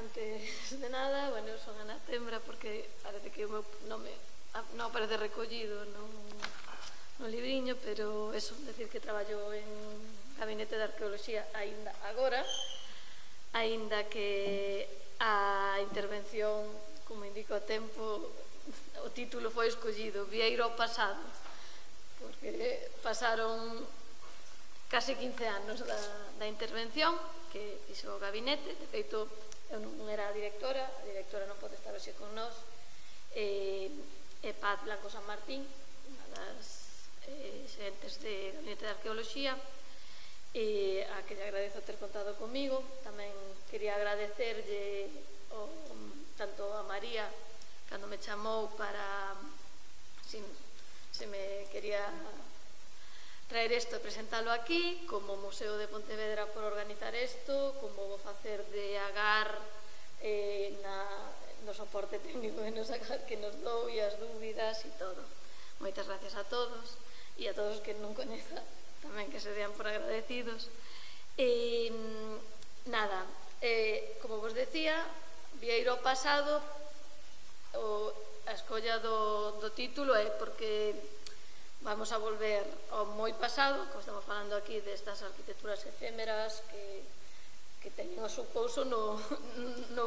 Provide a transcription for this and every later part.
Antes de nada, bueno, son Ana Tembra, porque parece que o meu nome non aparece recollido no libriño, pero eso, decir que traballo en Gabinete de Arqueoloxía aínda agora, aínda que a intervención, como indica o tempo, o título foi escollido Vieiro ao pasado, porque pasaron case 15 anos da intervención que fixo o gabinete. De feito, eu non era a directora non pode estar hoxe con nós, e Paz Blanco San Martín, unha das xerentes de Gabinete de Arqueoloxía, e a que lle agradezo ter contado comigo. Tamén quería agradecerlle tanto a María, cando me chamou para se me quería traer isto e presentalo aquí, como o Museo de Pontevedra por organizar isto, como vou facer de agar no soporte técnico que nos dou e as dúbidas e todo. Moitas gracias a todos e a todos que non coñeza tamén que se dean por agradecidos. Nada, como vos decía, Vieiro ao pasado, a escolla do título é porque vamos a volver ao moi pasado, como estamos falando aquí destas arquitecturas efémeras que teñen o seu pouso no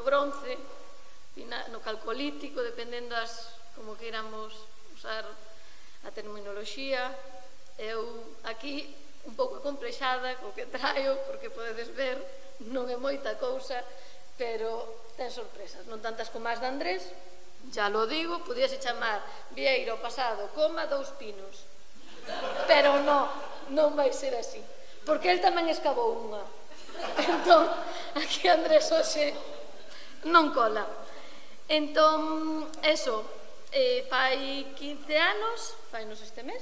bronce, no calcolítico, dependendo como queiramos usar a terminoloxía. Eu aquí un pouco complexada co que traio, porque podedes ver, non é moita cousa, pero ten sorpresas, non tantas como as de Andrés. Ya lo digo, podíase chamar Vieiro pasado, dous pinos. Pero non vai ser así, porque el tamén escavou unha. Entón, aquí Andrés hoxe non cola. Entón, eso, fai 15 anos, fainos este mes,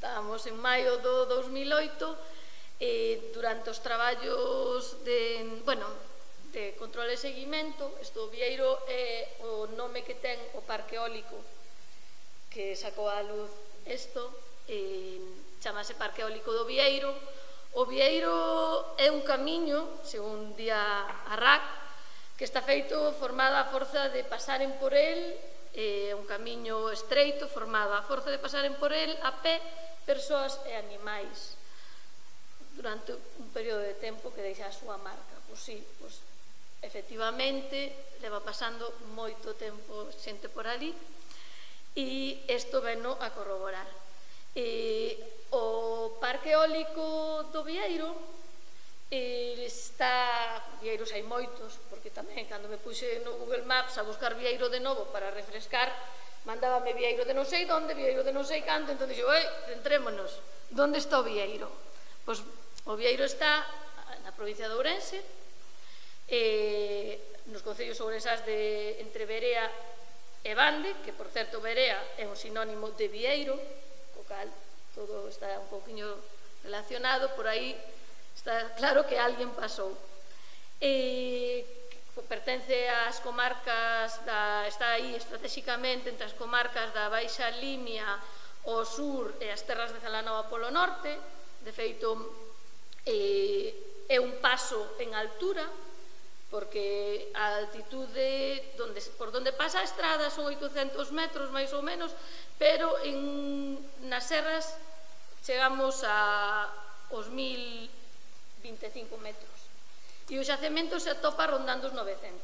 estábamos en maio do 2008, durante os traballos de control e seguimento. Isto, Vieiro é o nome que ten o parque eólico que sacou a luz isto, chamase Parque Eólico do Vieiro. O Vieiro é un camiño, según di a RAC, que está feito formado a forza de pasaren por el, un camiño estreito formado a forza de pasaren por el a pé persoas e animais durante un período de tempo que deixa a súa marca. Pois sí, efectivamente leva pasando moito tempo xente por ali, e isto veno a corroborar. O parque eólico do Vieiro Vieiros hai moitos, porque tamén cando me puxe no Google Maps a buscar Vieiro de novo para refrescar, mandábame Vieiro de non sei onde, Vieiro de non sei canto. Entón dixo, centrémonos, onde está o Vieiro? Pois o Vieiro está na provincia de Ourense, nos concellos ourensás de entre Verea e Bande, que por certo Verea é un sinónimo de Vieiro, co cal todo está un pouquiño relacionado. Por aí está claro que alguén pasou. Pertence ás comarcas, está aí estratégicamente entre as comarcas da Baixa Limia ao sur e as terras de Celanova polo norte. De feito, é un paso en altura, porque a altitude por donde pasa a estrada son 800 metros máis ou menos, pero nas serras chegamos aos 1025 metros, e o xacemento se atopa rondando os 900.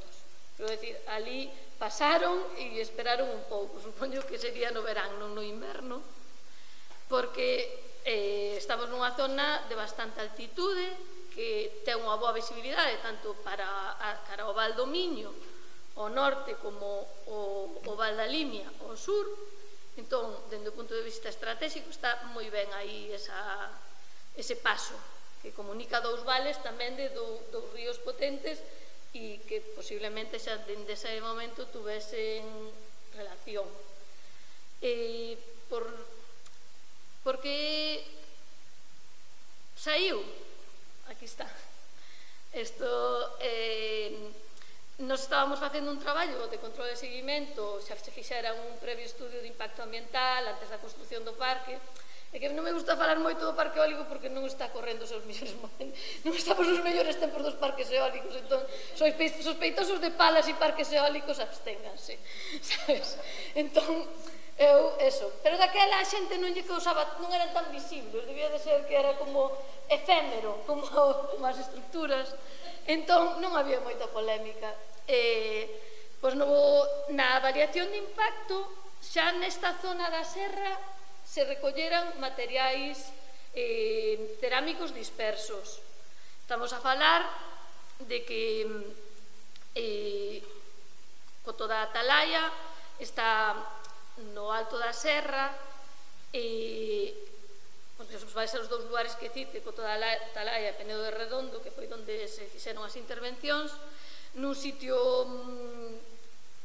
Quero dicir, ali pasaron e esperaron un pouco, supoño que sería no verán, non no inverno, porque estamos nunha zona de bastante altitude, que ten unha boa visibilidade tanto cara ao Val do Miño ao norte como o Val da Limia ao sur. Entón, dende o punto de vista estratégico, está moi ben aí ese paso que comunica dous vales tamén de dous ríos potentes, e que posiblemente xa dende ese momento tuvesen relación. Porque saiu, aquí está. Nos estábamos facendo un traballo de control e seguimento, xa se fixera un previo estudio de impacto ambiental antes da construción do parque, É que non me gusta falar moito do parque eólico porque non está correndo os seus mellores momentos, non estamos nos mellores tempos dos parques eólicos, entón, sospeitosos de palas e parques eólicos, absténganse, sabes? Entón, pero daquela a xente non lle causaba, non eran tan visibles, debía de ser que era como efémero, como as estructuras, entón non había moita polémica. Pois na variación de impacto, xa nesta zona da serra, se recolleran materiais cerámicos dispersos. Estamos a falar de que Coto da Atalaya está no alto da serra e vai ser os dous lugares que cite, Coto da Atalaya e Penedo de Redondo, que foi onde se fixeron as intervencións, nun sitio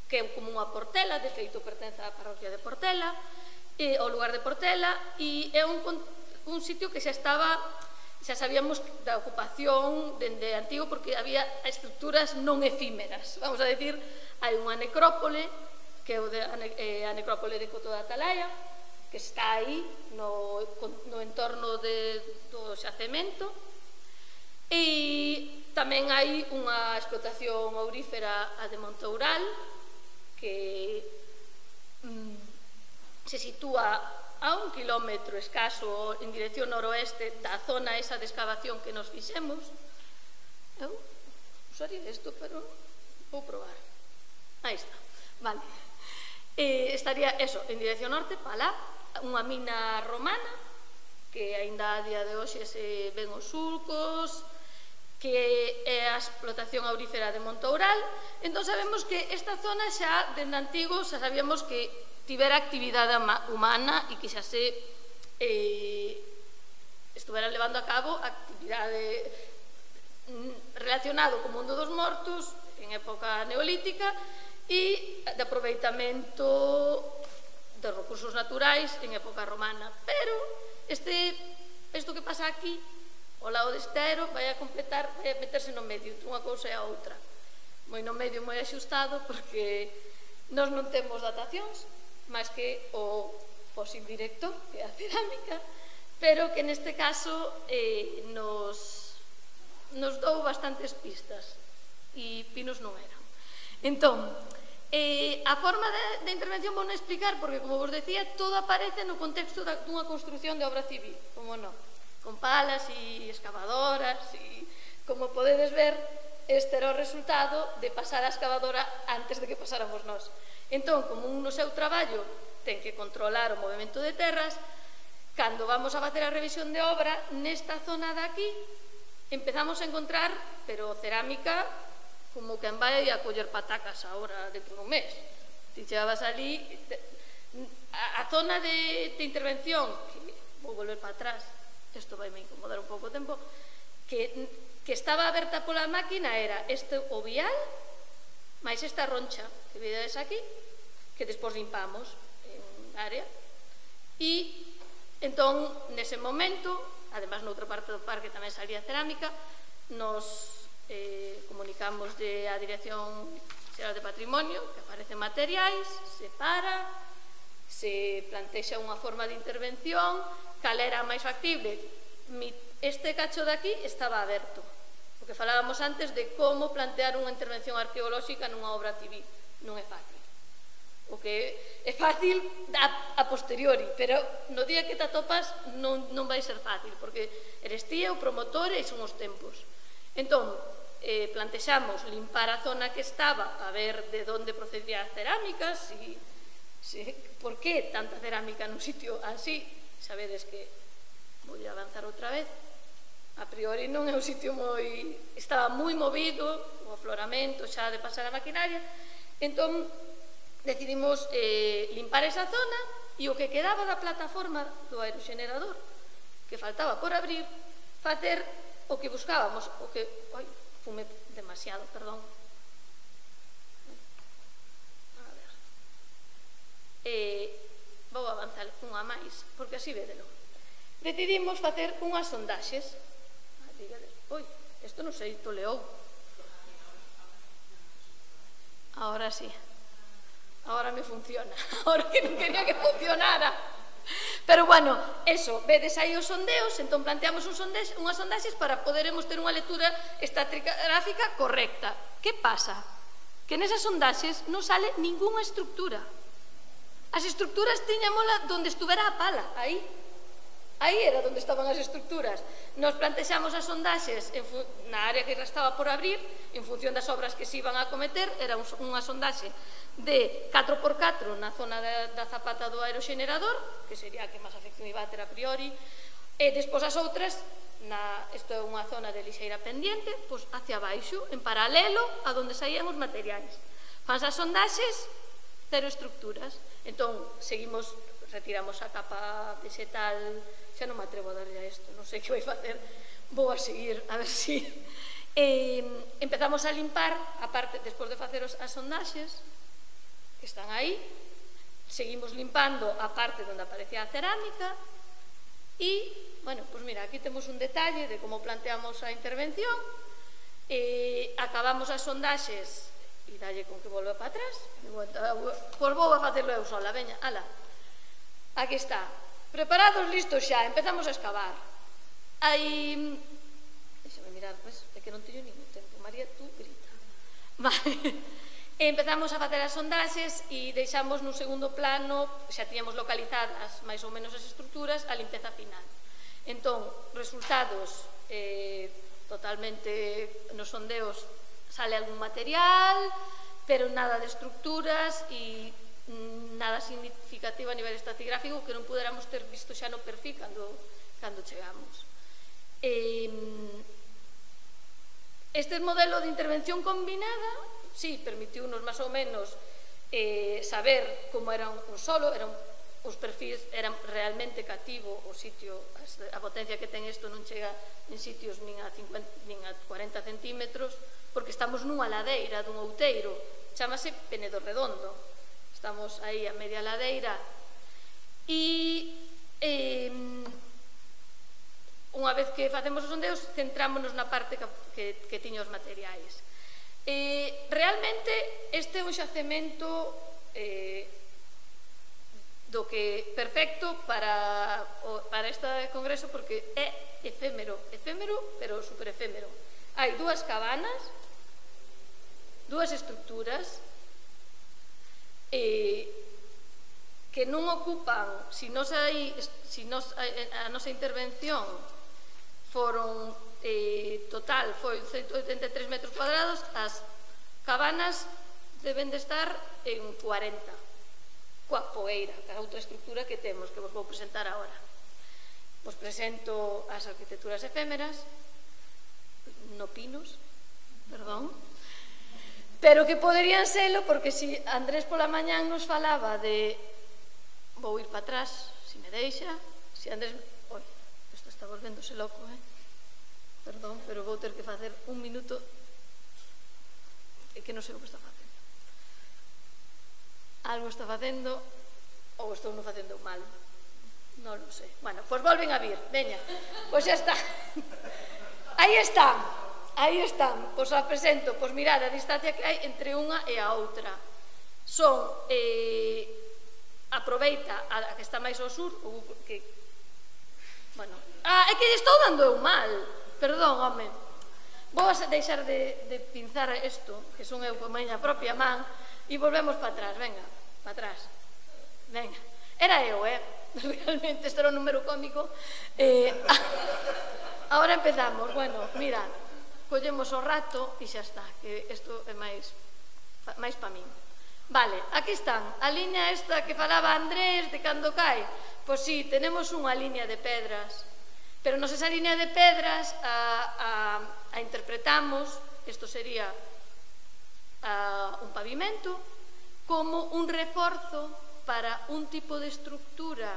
que é como unha Portela, de feito pertence á parroquia de Portela, ao lugar de Portela, e é un sitio que xa sabíamos da ocupación dende antigo porque había estructuras non efímeras, vamos a decir, hai unha necrópole que é a necrópole de Coto da Atalaya, que está aí no entorno do xacemento, e tamén hai unha explotación aurífera a de Montoural que se sitúa a 1 kilómetro escaso en dirección noroeste da zona esa de excavación que nos fixemos. Eu usaría isto, pero vou probar. Aí está, vale. Estaría, eso, en dirección norte, para lá, unha mina romana, que aínda a día de hoxe se ven os sulcos, que é a explotación aurífera de Montoural. Entón sabemos que esta zona xa, dende antigo, xa sabíamos que tivera actividade humana e que xa se estuvera levando a cabo actividade relacionado co mundo dos mortos en época neolítica e de aproveitamento dos recursos naturais en época romana. Pero isto que pasa aquí, ao lado deste aero, vai a meterse no medio entre unha cousa e a outra. Moi no medio, moi axustado, porque nós non temos datacións, máis que o fósil directo, que é a cerámica, pero que neste caso nos dou bastantes pistas, e pinos non eran. Entón, a forma de intervención vou non explicar, porque, como vos decía, todo aparece no contexto dunha construción de obra civil, como non, con palas e excavadoras, e, como podedes ver, este era o resultado de pasar a excavadora antes de que pasáramos nós. Entón, como no seu traballo ten que controlar o movimento de terras, cando vamos a facer a revisión de obra, nesta zona de aquí, empezamos a encontrar, pero cerámica, como quen vai a coller patacas agora dentro dun mes. Ti chegabas ali, a zona de intervención, que vou volver para atrás, isto vai me incomodar un pouco o tempo, que estaba aberta pola máquina era este o vial, máis esta roncha que vedes aquí, que despois limpamos en área, e entón, nese momento, además noutra parte do parque tamén salía cerámica, nos comunicamos a Dirección Xeral de Patrimonio, que aparecen materiais, se para, se plantexa unha forma de intervención, cal era máis factible. Este cacho de aquí estaba aberto, porque falábamos antes de como plantear unha intervención arqueolóxica nunha obra civil. Non é fácil. O que é fácil a posteriori, pero no día que te atopas non vai ser fácil, porque eres ti o promotor e son os tempos. Entón, plantexamos limpar a zona que estaba a ver de onde procedía a cerámica, por que tanta cerámica nun sitio así. Sabedes que vou avanzar outra vez, a priori non é un sitio estaba moi movido, o afloramento xa de pasar a maquinaria. Entón decidimos limpar esa zona e o que quedaba da plataforma do aeroxenerador que faltaba por abrir, facer o que buscábamos, o que... Oi, fume demasiado, perdón. A ver. Vou avanzar unha máis, porque así védelo. Decidimos facer unhas sondaxes. Oi, isto non sei, toleou. Ahora sí. Ahora me funciona. Ahora que non quería que funcionara. Pero, bueno, eso, vedes aí os sondeos, entón planteamos unhas sondaxes para poderemos ter unha lectura estratigráfica correcta. Que pasa? Que nesas sondaxes non sale ningunha estructura. As estructuras tiñámola donde estuvera a pala, aí. Aí era onde estaban as estructuras. Nos plantexamos as sondaxes na área que estaba por abrir, en función das obras que se iban a cometer. Era unha sondaxe de 4x4 na zona da zapata do aeroxenerador, que sería a que máis afección iba a ter a priori, e despois as outras, isto é unha zona de lixeira pendiente, pois hacia baixo, en paralelo a donde saían os materiais. Fans as sondaxes, cero estructuras. Entón, seguimos, retiramos a capa vegetal. Xa non me atrevo a darlle a isto, non sei que vai facer, vou a seguir, a ver si. Empezamos a limpar, aparte, despois de facer as sondaxes, que están aí, seguimos limpando a parte onde aparecía a cerámica, e, bueno, pois mira, aquí temos un detalle de como planteamos a intervención, acabamos as sondaxes, e dalle con que volve para atrás, pois vou a facerlo eu sola, veña, ala, aquí está. Preparados, listos xa, empezamos a excavar. Aí... Deixame mirar, é que non teño ningún tempo. María, tú grita. Vale. Empezamos a facer as sondaxes e deixamos nun segundo plano, xa tiñamos localizadas máis ou menos as estructuras, a limpeza final. Entón, resultados totalmente nos sondeos sale algún material, pero nada de estructuras e nada significativo a nivel estratigráfico que non puderamos ter visto xa no perfil cando chegamos. Este modelo de intervención combinada, sí, permitiunos máis ou menos saber como era un solo, os perfis eran realmente cativo o sitio, a potencia que ten isto non chega en sitios nin a 40 centímetros, porque estamos nunha ladeira dun outeiro, chamase Penedo Redondo. Estamos aí a media ladeira e unha vez que facemos os sondeos centrámonos na parte que tiña os materiais. Realmente este é un xacemento do que perfecto para este congreso, porque é efémero, pero super efémero. Hai dúas cabanas, dúas estructuras que non ocupan, a nosa intervención foron total, foi 183 metros cuadrados, as cabanas deben de estar en 40, coa fogueira, que é outra estructura que temos, que vos vou presentar agora. Vos presento as arquitecturas efémeras, no pinos, perdón, pero que poderían selo, porque se Andrés pola mañán nos falaba de... Vou ir para atrás, se me deixa. Se Andrés... Oi, isto está volvéndose loco, perdón, pero vou ter que facer un minuto. É que non sei o que está facendo. Algo está facendo, ou estou non facendo mal. Non lo sei. Bueno, pois volven a vir, veña. Pois xa está. Aí están. Aí están, pois a presento, pois mirad a distancia que hai entre unha e a outra. Son, aproveita a que está máis ao sur, que, bueno, é que estou dando eu mal, perdón, home. Vou a deixar de pinzar isto, que son eu con miña propia man, e volvemos para atrás, venga, para atrás. Venga, era eu, realmente, este era un número cómico. Ahora empezamos, bueno, mirad. Collemos o rato e xa está, que isto é máis pa min. Vale, aquí están, a liña esta que falaba Andrés de cando cae. Pois sí, tenemos unha liña de pedras, pero nos esa liña de pedras a interpretamos, isto sería un pavimento, como un reforzo para un tipo de estructura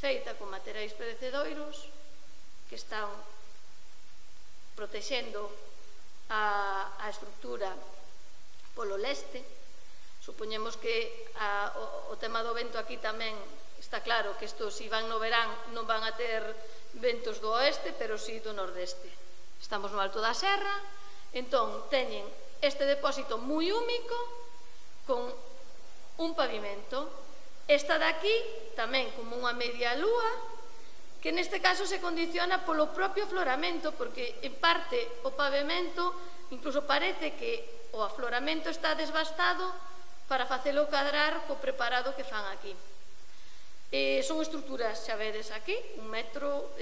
feita con materiais perecedoiros que están protexendo a estructura polo leste. Supoñemos que o tema do vento aquí tamén está claro que isto, se van no verán, non van a ter ventos do oeste, pero si do nordeste. Estamos no alto da serra, entón teñen este depósito moi húmico con un pavimento Esta de aquí, tamén como unha media lúa, que neste caso se condiciona polo propio afloramento, porque en parte o pavimento incluso parece que o afloramento está desbastado para facelo cadrar co preparado que fan aquí. Son estruturas, xa vedes aquí, 1 metro,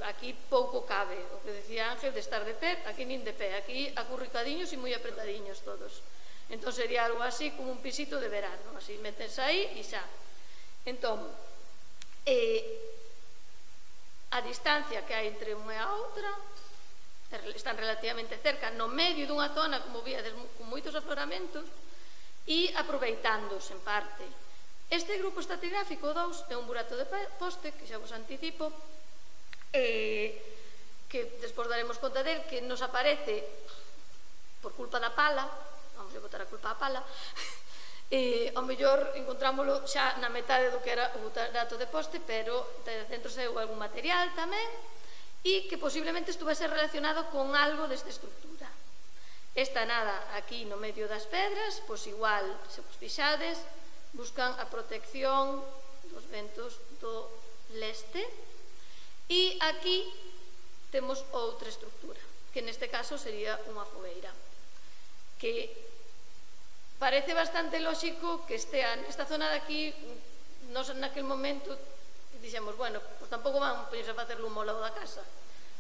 aquí pouco cabe, o que decía Ángel de estar de pé, aquí nin de pé, aquí acurricadiños e moi apretadiños todos. Entón sería algo así como un pisito de verano, así metes aí e xa. Entón, a distancia que hai entre unha e a outra están relativamente cerca, no medio dunha zona, como víades, con moitos afloramentos, e aproveitándose en parte. Este grupo estratigráfico 2 é un burato de poste, que xa vos anticipo, que despois daremos conta del, que nos aparece por culpa da pala, vamos a botar a culpa á pala, ao mellor encontrámoslo xa na metade do que era o burato de poste, pero dentro saiu algún material tamén, e que posiblemente estuvese relacionado con algo desta estructura. Esta nada aquí no medio das pedras, pois igual, se vos fixades, buscan a protección dos ventos do leste, e aquí temos outra estructura, que neste caso sería unha fogueira, que parece bastante lóxico que estea nesta zona de aquí. Nos naquel momento dixemos, bueno, pois tampouco vamos a poñerse a facer lumo ao lado da casa,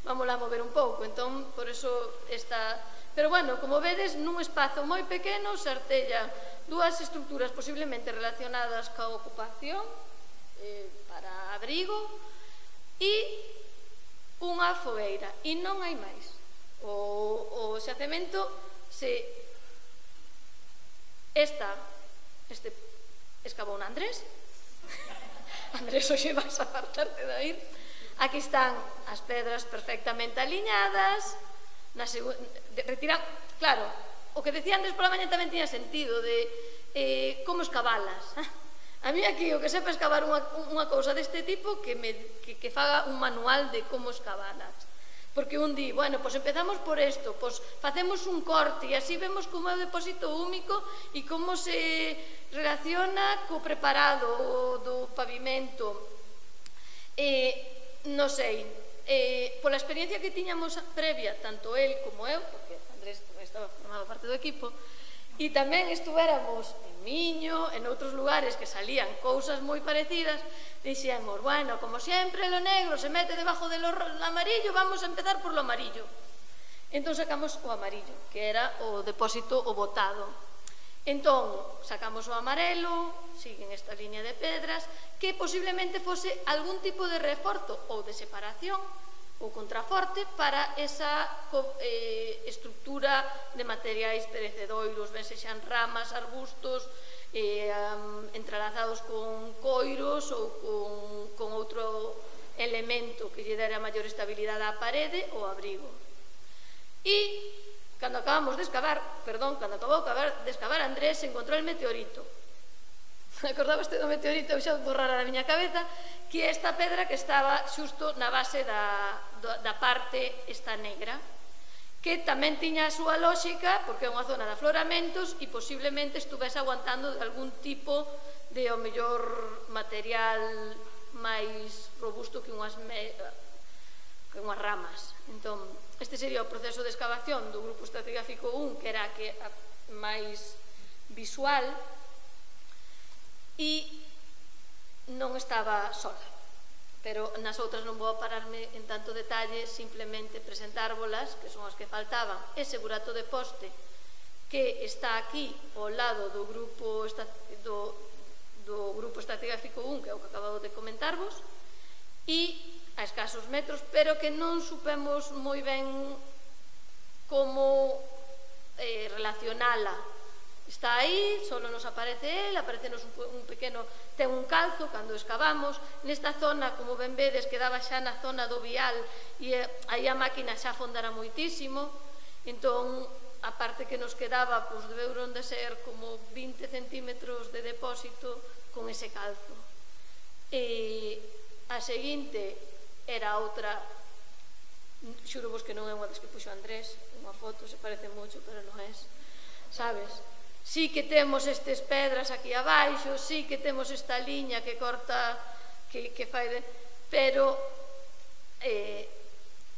vamos a mover un pouco, entón por eso está. Pero bueno, como vedes, nun espazo moi pequeno se artellan dúas estructuras posiblemente relacionadas ca ocupación para abrigo e unha fogueira, e non hai máis. O xacemento este escavou Andrés. Andrés, hoxe vas a apartarte de ir. Aquí están as pedras perfectamente aliñadas, retirar, claro, o que decía Andrés pola mañá tamén tiña sentido de como escavalas. A mí aquí o que sepa escavar unha cousa deste tipo que faga un manual de como escavalas, porque un di, bueno, pois empezamos por isto, pois facemos un corte e así vemos como é o depósito húmico e como se relaciona co preparado do pavimento. Non sei, pola experiencia que tiñamos previa, tanto el como eu, porque Andrés estaba formado parte do equipo, e tamén estuvéramos en Miño, en outros lugares que salían cousas moi parecidas, dixemos, bueno, como sempre lo negro se mete debajo del amarillo, vamos a empezar por lo amarillo. Entón sacamos o amarillo, que era o depósito o botado. Entón sacamos o amarelo, siguen esta línea de pedras, que posiblemente fose algún tipo de reforzo ou de separación ou contraforte para esa estructura de materiais perecedoiros, ben sexan ramas, arbustos, entrelazados con coiros ou con outro elemento que lle dera maior estabilidade á parede ou abrigo. E cando acabou de excavar Andrés, encontrou el meteorito. Acordabaste do meteorito? Eu xa borrara da miña cabeza, que é esta pedra que estaba xusto na base da parte esta negra, que tamén tiña a súa lóxica, porque é unha zona de afloramentos e posiblemente estuvese aguantando de algún tipo de, ao mellor, material máis robusto que unhas ramas. Entón, este sería o proceso de excavación do grupo estratigráfico 1, que era máis visual, e non estaba sola, pero nas outras non vou pararme en tanto detalle, simplemente presentárvolas, que son as que faltaban. Ese burato de poste que está aquí ao lado do grupo estratigráfico 1, que é o que acabo de comentarvos, e a escasos metros, pero que non supemos moi ben como relacionala. Está aí, só nos aparece el, aparecenos un pequeno, ten un calzo cando excavamos. Nesta zona, como ben vedes, quedaba xa na zona do vial e aí a máquina xa fondara moitísimo. Entón, a parte que nos quedaba, pois deberon de ser como 20 centímetros de depósito con ese calzo. E a seguinte era outra, xuro vos que non é unha das que puxo Andrés, unha foto, se parece moito, pero non é, sabes? sí que temos estes pedras aquí abaixo, sí que temos esta liña que corta, que fai de... Pero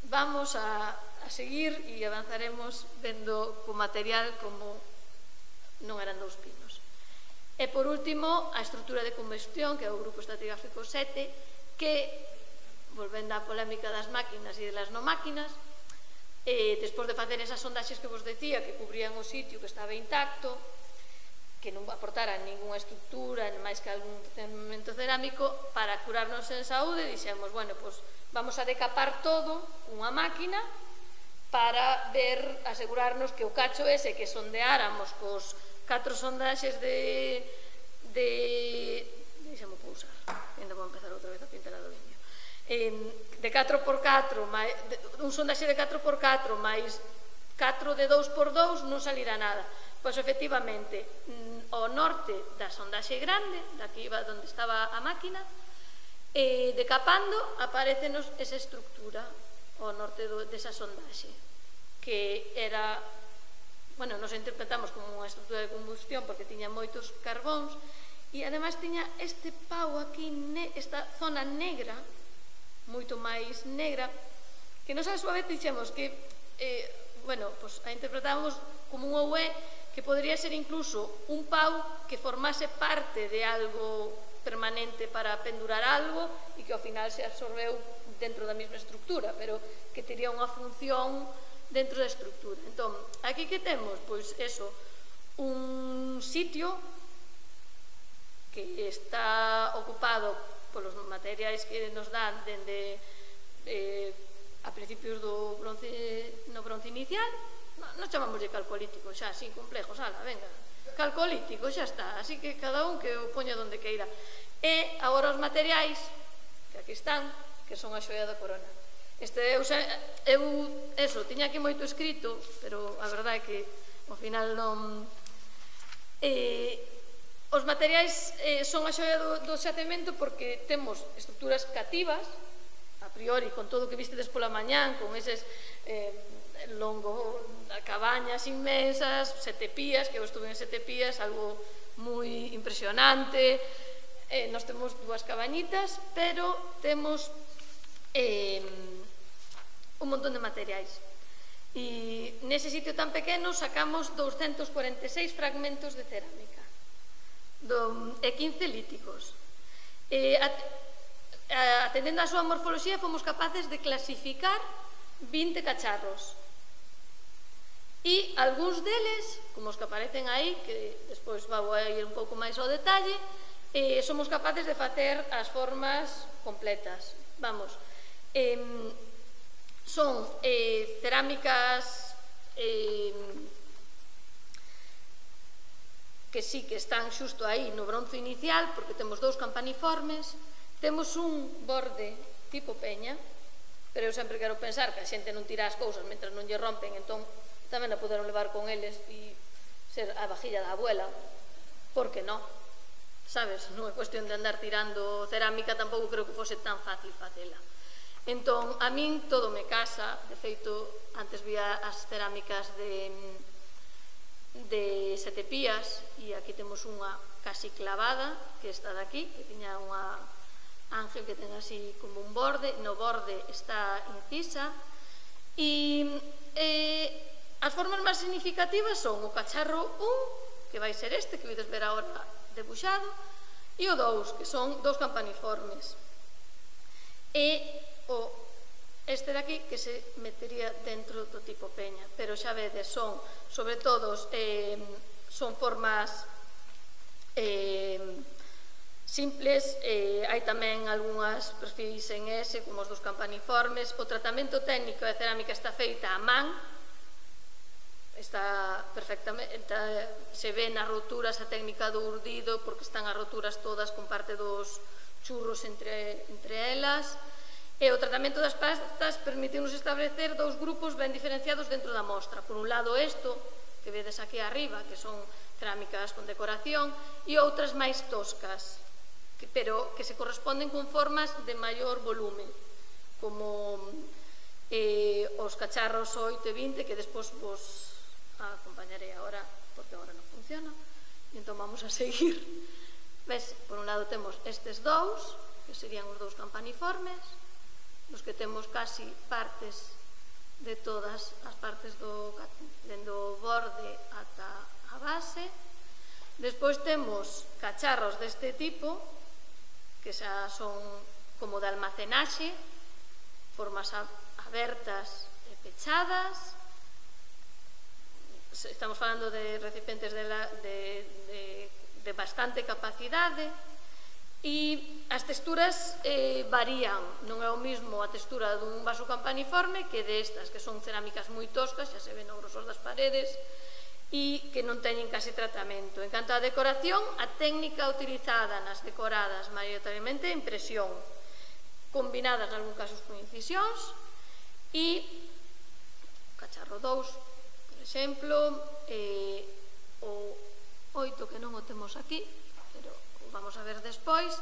vamos a seguir e avanzaremos vendo co material como non eran dous pinos. E por último, a estrutura de combustión, que é o grupo estratigráfico 7, que, volvendo á polémica das máquinas e das non máquinas, despois de facer esas sondaxes que vos decía, que cubrían o sitio que estaba intacto, que non aportaran ninguna estructura, máis que algún elemento cerámico, para curarnos en saúde, dixemos, bueno, pois vamos a decapar todo cunha máquina para ver, asegurarnos que o cacho ese que sondeáramos cos 4 sondaxes de deixamos pousar, ainda vou empezar outra vez a pintar a do viño, de 4x4, un sondaxe de 4x4 máis 4 de 2x2 non salirá nada. Pois efectivamente, ao norte da sondaxe grande, daqui iba onde estaba a máquina, decapando aparecenos esa estructura ao norte desa sondaxe, que era, bueno, nos interpretamos como unha estructura de combustión porque tiña moitos carbóns e ademais tiña este pau aquí, esta zona negra, moito máis negra, que nos a súa vez dixemos que, bueno, pois a interpretamos como un OE que podría ser incluso un pau que formase parte de algo permanente para pendurar algo e que ao final se absorbeu dentro da mesma estructura, pero que tería unha función dentro da estructura. Entón, aquí que temos? Pois eso, un sitio que está ocupado polos materiais que nos dan dende a principios do bronce inicial. Non chamámoslle calcolítico xa, sin complejos, ala, venga, calcolítico, xa está, así que cada un que o poña donde queira. E agora os materiais, que aquí están, que son a xoia da corona. Eu tiña aquí moito escrito, pero a verdade é que ao final non... Os materiais son a xoia do xacemento porque temos estruturas cativas, a priori, con todo o que vistedes pola mañán, con eses longo cabañas inmensas, 7 pías, que eu estuve en 7 pías, algo moi impresionante. Nos temos 2 cabañitas, pero temos un montón de materiais. E nese sitio tan pequeno sacamos 246 fragmentos de cerámica e 15 líticos. Atendendo a súa morfoloxía, fomos capaces de clasificar 20 cacharros. E algúns deles, como os que aparecen aí, que despois vou a ir un pouco máis ao detalle, somos capaces de facer as formas completas. Vamos, son cerámicas que sí que están xusto aí no bronzo inicial, porque temos 2 campaniformes, temos un borde tipo peña, pero eu sempre quero pensar que a xente non tira as cousas mentre non lle rompen, entón tamén a poderon levar con eles e ser a vajilla da abuela, por que non? Sabes, non é cuestión de andar tirando cerámica, tampouco creo que fose tan fácil facela. Entón, a min todo me casa, de feito, antes vía as cerámicas de 7 pías, e aquí temos unha casi clavada, que está daqui, que tiña unha ángel que ten así como un borde, no borde está incisa, e as formas máis significativas son o cacharro 1, que vai ser este, que vedes ver agora debuxado, e o 2, que son 2 campaniformes. E este de aquí, que se metería dentro do tipo peña, pero xa vedes, son, sobre todo, son formas simples, hai tamén algunhas perfis en S, como os 2 campaniformes. O tratamento técnico de cerámica está feita a man, está perfectamente, se ve nas roturas a técnica do urdido, porque están as roturas todas con parte dos churros entre elas. E o tratamento das pastas permitiunos establecer 2 grupos ben diferenciados dentro da mostra. Por un lado isto, que vedes aquí arriba, que son cerámicas con decoración, e outras máis toscas, pero que se corresponden con formas de maior volume, como os cacharros 8 e 20, que despois vos acompañarei agora, porque agora non funciona, e entón vamos a seguir. Ves, por un lado temos estes dous, que serían os dous campaniformes, nos que temos casi partes de todas as partes dende o borde ata a base. Despois temos cacharros deste tipo, que xa son como de almacenaxe, formas abertas e pechadas. Estamos falando de recipientes de bastante capacidade, e as texturas varían. Non é o mismo a textura dun vaso campaniforme que destas, que son cerámicas moi toscas, xa se ven o grosor das paredes, e que non teñen casi tratamento. En canto á decoración, a técnica utilizada nas decoradas maioritariamente é impresión, combinadas en algún casos con incisións, e o cacharro 2, por exemplo, o 8, que non o temos aquí, pero o vamos a ver despois,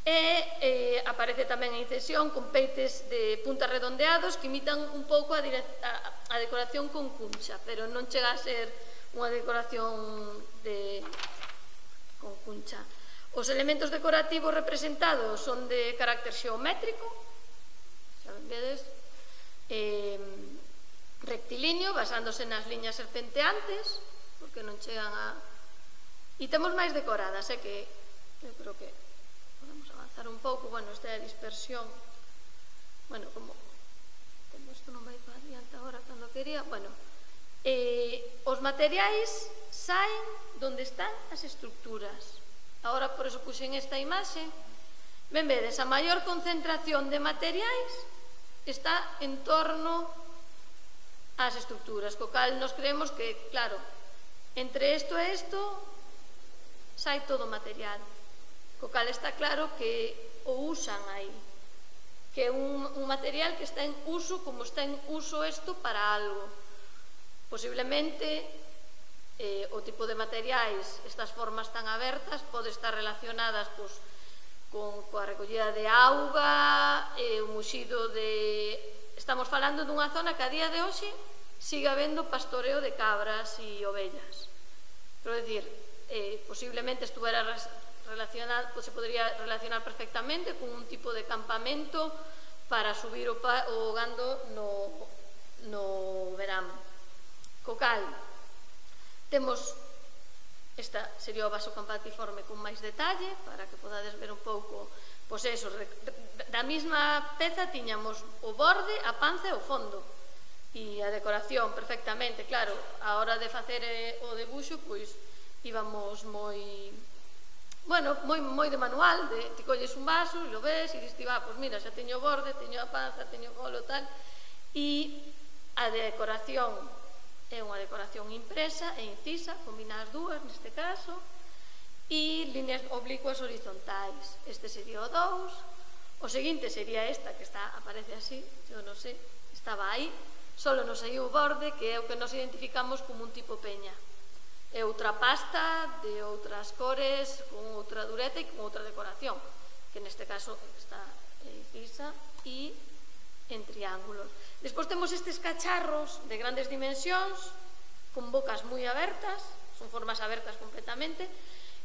e aparece tamén a incisión con peites de puntas redondeados que imitan un pouco a decoración con cuncha, pero non chega a ser unha decoración con cuncha. Os elementos decorativos representados son de carácter xeométrico, xa vedes, rectilíneo, basándose nas liñas serpenteantes, porque non chegan a... E temos máis decoradas, que eu creo que podemos avanzar un pouco. Bueno, esta é a dispersión. Bueno, como isto non vai para adiante agora cando quería, bueno, os materiais saen donde están as estructuras. Agora, por eso puxen esta imaxe. Ben vedes, a maior concentración de materiais está en torno ás estructuras, co cal nos creemos que, claro, entre isto e isto sai todo o material, co cal está claro que o usan aí, que é un material que está en uso como está en uso isto para algo. Posiblemente o tipo de materiais, estas formas tan abertas, pode estar relacionadas coa recollida de auga, o muxido de... Estamos falando dunha zona que a día de hoxe sigue habendo pastoreo de cabras e ovellas. Quero dicir, posiblemente estuvera relacionado, se podría relacionar perfectamente con un tipo de campamento para subir o gando no verán. Co cal, temos, esta sería o vaso campaniforme con máis detalle, para que podades ver un pouco, pois eso, da mesma peza tiñamos o borde, a panza e o fondo, e a decoración perfectamente. Claro, a hora de facer o debuxo, pois íbamos moi, bueno, moi de manual, te colles un vaso e lo ves e dis, pois mira, xa teño o borde, teño a panza, teño o colo, tal, e a decoración é unha decoración impresa e incisa, combina as dúas neste caso, e líneas oblicuas horizontais. Este sería o 2, o seguinte sería esta, que aparece así, eu non sei, estaba aí, solo nos saiu o borde, que é o que nos identificamos como un tipo peña. É outra pasta de outras cores, con outra dureza e con outra decoración, que neste caso está incisa e en triángulos. Despois temos estes cacharros de grandes dimensións, con bocas moi abertas, son formas abertas completamente,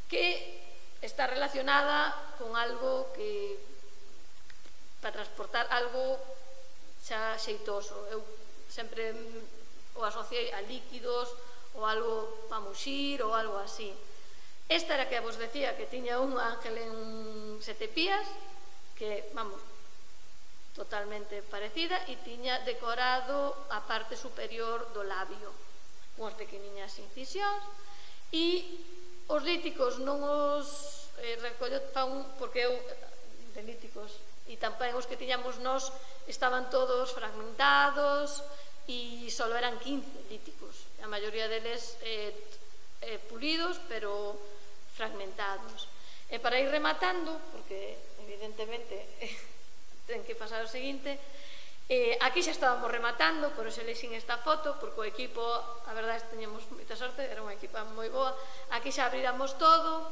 que está relacionada con algo que, para transportar algo xa xeitoso. Eu sempre o asociei a líquidos, ou algo para muxir, ou algo así. Esta era que vos decía que tiña un ángel en 7 pías, que, vamos, totalmente parecida, e tiña decorado a parte superior do labio, unhas pequeniñas incisións, e os líticos non os recollo porque eu, de líticos, e tamén os que tiñamos nós, estaban todos fragmentados, e só eran 15 líticos, a maioría deles pulidos, pero fragmentados. E para ir rematando, porque evidentemente ten que pasar o seguinte, aquí xa estábamos rematando, por eso lexín esta foto, porque o equipo, a verdade, teñemos moita sorte, era unha equipa moi boa. Aquí xa abriramos todo,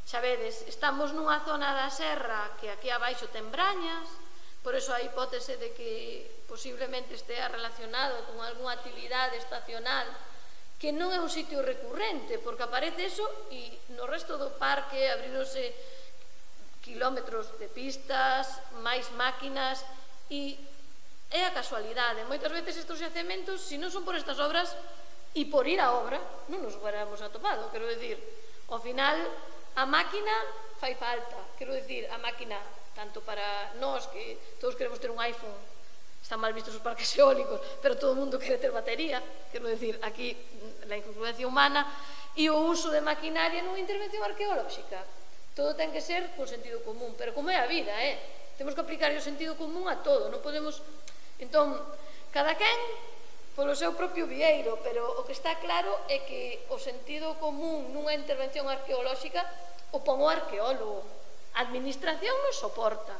xa vedes, estamos nunha zona da serra que aquí abaixo ten brañas, por eso a hipótese de que posiblemente estea relacionado con algunha actividade estacional que non é un sitio recurrente, porque aparece eso e no resto do parque abrirose kilómetros de pistas, máis máquinas, e é a casualidade. Moitas veces estes xacementos, se non son por estas obras e por ir á obra, non nos huéramos atopado. Quero dicir, ao final, a máquina fai falta. Quero dicir, a máquina, tanto para nós, que todos queremos ter un iPhone, están mal vistos os parques eólicos, pero todo o mundo quere ter batería. Quero dicir, aquí, a incongruencia humana e o uso de maquinaria nunha intervención arqueolóxica. Todo ten que ser con sentido común, pero como é a vida, temos que aplicar o sentido común a todo, non podemos... Entón, cada quen polo seu propio vieiro, pero o que está claro é que o sentido común nunha intervención arqueolóxica o pon o arqueólogo. A administración nos soporta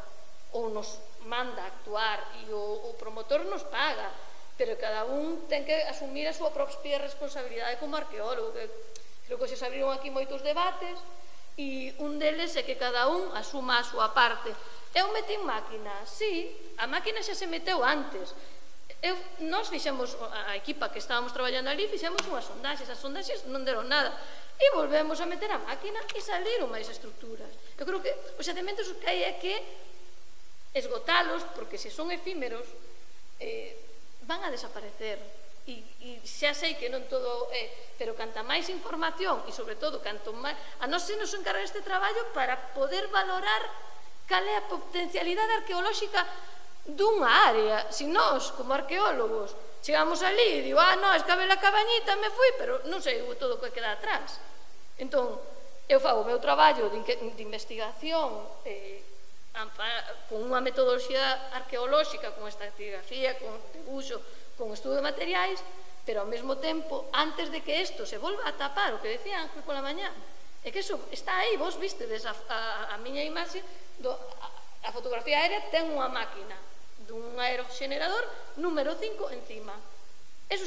ou nos manda actuar e o promotor nos paga, pero cada un ten que asumir a súa propia responsabilidade como arqueólogo. Creo que se abriron aquí moitos debates e un deles é que cada un asuma a súa parte. Eu metín máquina, sí, a máquina xa se meteu antes. Nós fixemos, a equipa que estábamos traballando ali, fixemos unhas sondaxes, as sondaxes non deron nada, e volvemos a meter a máquina e saliron máis estructuras. Eu creo que os xacementos o que hai é que esgotalos, porque se son efímeros van a desaparecer, e xa sei que non todo é, pero canta máis información e sobre todo canto máis, a nós se nos encarga este traballo para poder valorar cal é a potencialidade arqueolóxica dunha área. Se nós, como arqueólogos, chegamos ali e digo, non, escabe a cabañita, me fui, pero non sei todo o que queda atrás. Entón, eu fago o meu traballo de investigación con unha metodoloxía arqueolóxica, con estratigrafía, con debuxo, con estudo de materiais, pero ao mesmo tempo, antes de que isto se volva a tapar, o que decía Ángel pola mañá, é que iso está aí, vos vistedes a miña imaxe, a fotografía aérea ten unha máquina dun aeroxenerador número 5 encima. Eso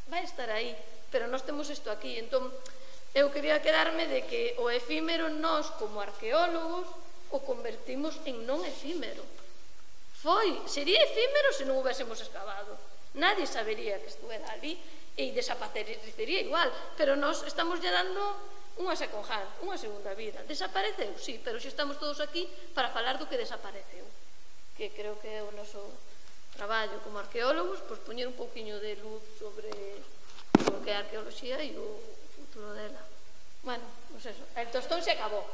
vai estar aí, pero nós temos isto aquí. Entón, eu quería quedarme de que o efímero nós, como arqueólogos, o convertimos en non efímero. Sería efímero se non houbésemos escavado. Nadie sabería que estuera ali e desaparecería igual, pero nós estamos lle dando unha second hand, unha segunda vida. Desapareceu, sí, pero xa estamos todos aquí para falar do que desapareceu, que creo que é o noso traballo como arqueólogos, pois poñer un pouquiño de luz sobre o que é a arqueoloxía e o futuro dela. Bueno, pois eso, el tostón se acabou.